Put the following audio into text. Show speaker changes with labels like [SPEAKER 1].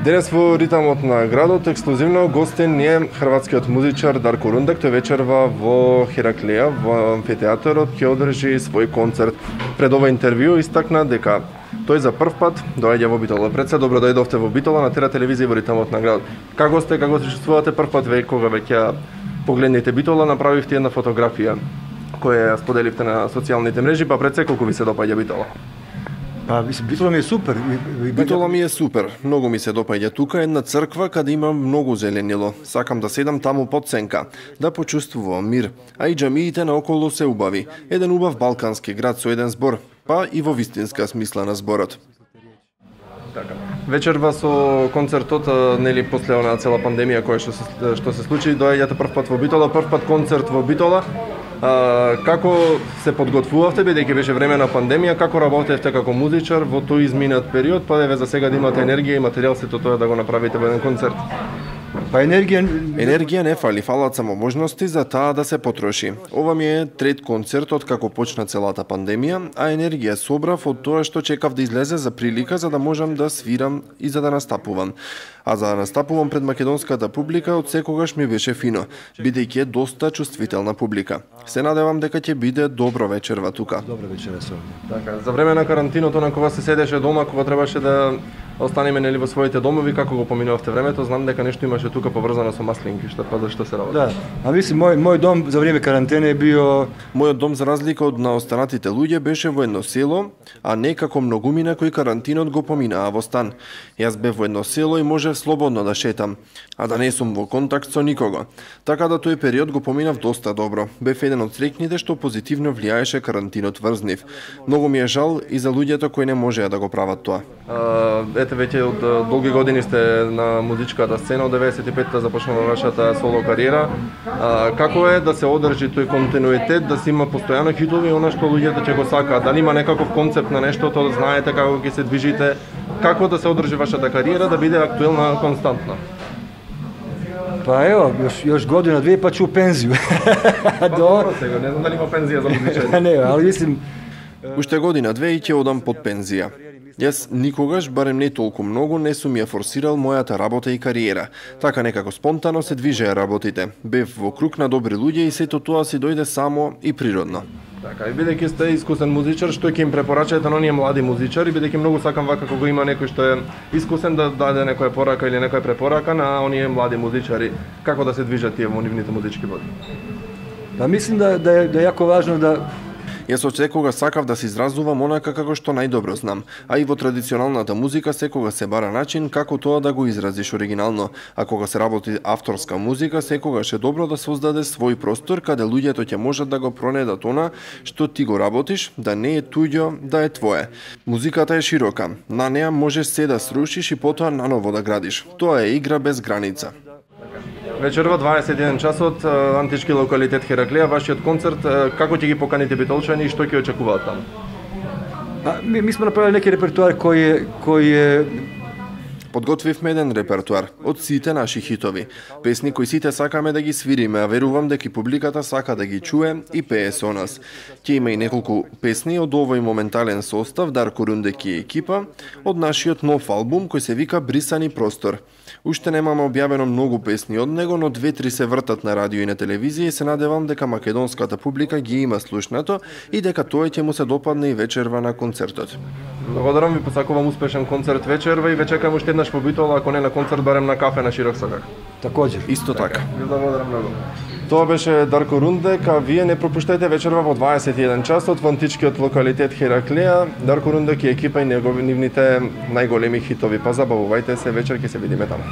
[SPEAKER 1] Денес во ритамот на градот ексклузивно гостин е хрватскиот музичар Дарко Рундек. Тој вечерва во Хераклеја, во амфитеатарот, ќе одржи свој концерт. Пред ова интервју истакна дека тој за прв пат доаѓа во Битола. Пред се добро дојдовте во Битола на Тера телевизија во ритамот на градот. Како сте, како се чувствувате прв пат кога веќе погледнете Битола, направивте една фотографија која ја споделивте на социјалните мрежи, па пред се колку ви се допаѓа Битола?
[SPEAKER 2] Па, Битола ми е супер.
[SPEAKER 1] Битола ми е супер. Многу ми се допаѓа тука една црква каде има многу зеленило. Сакам да седам таму под сенка, да почувствувам мир. А и џамиите наоколу се убави. Еден убав балкански град со еден збор, па и во вистинска смисла на зборот. Така. Вечерва со концертот, нели после онаа цела пандемија која што се случи, доаѓате прв пат во Битола, прв пат концерт во Битола. Како се подготвувавте, бидејќи беше време на пандемија, како работевте како музичар во тој изминат период, па еве за сега да имате енергија и материјал сето тоа да го направите во еден концерт?
[SPEAKER 2] Па енергија
[SPEAKER 1] не фали, фалат само можности за таа да се потроши. Ова ми е трет концерт од како почна целата пандемија, а енергија собрав од тоа што чекав да излезе за прилика за да можам да свирам и за да настапувам. А за да настапувам пред македонската публика од секогаш ми беше фино, бидејќи е доста чувствителна публика. Се надевам дека ќе биде добро вечерва тука.
[SPEAKER 2] Добро вечерва се.
[SPEAKER 1] Така, за време на карантиното на кога се седеше дома, кога требаше да останеме нели во своите домови, како го поминувавте времето, знам дека нешто имаше тука поврзано со маслинки, што се работи.
[SPEAKER 2] Да, а мислам мој дом за време карантена е био...
[SPEAKER 1] Мојот дом за разлика од на останатите луѓе беше во едно село, а не како многумина кои карантинот го поминаа во стан. Јас бев во едно село и можев слободно да шетам, а да не сум во контакт со никого. Така да тој период го поминав доста добро. Бев еден од среќните што позитивно влијаеше карантинот врз нив. Многу ми е жал и за луѓето кои не можеа да го прават тоа. Ете веќе од долги години сте на музичката сцена, од 95-та започнала вашата соло кариера. Како е да се одржи тој континуитет, да се има постојано хитови, она што луѓето ќе го сакаат? Дали има некаков концепт на нештото, да знаете како ќе се движите? Како да се одржи вашата кариера да биде актуелна константна?
[SPEAKER 2] Па ево, још година, две па ќе у пензију.
[SPEAKER 1] Добро сега, не знам дали има пензија за музичари.
[SPEAKER 2] Не, али мислим...
[SPEAKER 1] Уште година, две и ќе одам под пензија. Јас никогаш, барем не толку многу, не сум ја форсирал мојата работа и кариера. Така некако спонтано се движеа работите. Бев во круг на добри луѓе и сето тоа си дојде само и природно. Така, и бидејќи сте искусен музичар, што ќе им препорачате на оние млади музичари, бидејќи многу сакам вака кога има некој што е искусен да даде некоја порака или некоја препорака на оние млади музичари, како да се движат тие во нивните музички води?
[SPEAKER 2] Па мислим да е јако важно да...
[SPEAKER 1] Јас од секога сакав да се изразувам онака како што најдобро знам, а и во традиционалната музика секога се бара начин како тоа да го изразиш оригинално, а кога се работи авторска музика, секогаш е добро да создаде свој простор каде луѓето ќе можат да го пронедат она што ти го работиш, да не е туѓо, да е твое. Музиката е широка, на неа можеш се да срушиш и потоа наново да градиш. Тоа е игра без граница. Вечерва 21 часот, антички локалитет Хераклеја, вашиот концерт, како ќе ги поканите битолчани и што ќе очекуваат таму?
[SPEAKER 2] Ми сме направили неки репертуар кој е...
[SPEAKER 1] Подготвивме еден репертуар од сите наши хитови. Песни кои сите сакаме да ги свириме, а верувам дека публиката сака да ги чуе и пее со нас. Ќе има и неколку песни од овој моментален состав Дарко Рундек и екипа од нашиот нов албум кој се вика Брисани простор. Уште немаме објавено многу песни од него, но 2-3 се вртат на радио и на телевизија и се надевам дека македонската публика ги има слушнато и дека тоа ќе му се допадне и вечерва на концертот. Благодарам ви, посакувам успешен концерт вечерва и ве чекам уште еднаш по Битола, ако не на концерт, барем на кафе на Широк Сакак.
[SPEAKER 2] Такоđer.
[SPEAKER 1] Исто така. Ви благодарам многу. Тоа беше Дарко Рундек, а вие не пропуштајте вечерва во 21 часот во античкиот локалитет Хераклеја. Дарко Рундек и екипа и нивните најголеми хитови. Па забавувајте се, вечер ќе се видиме таму.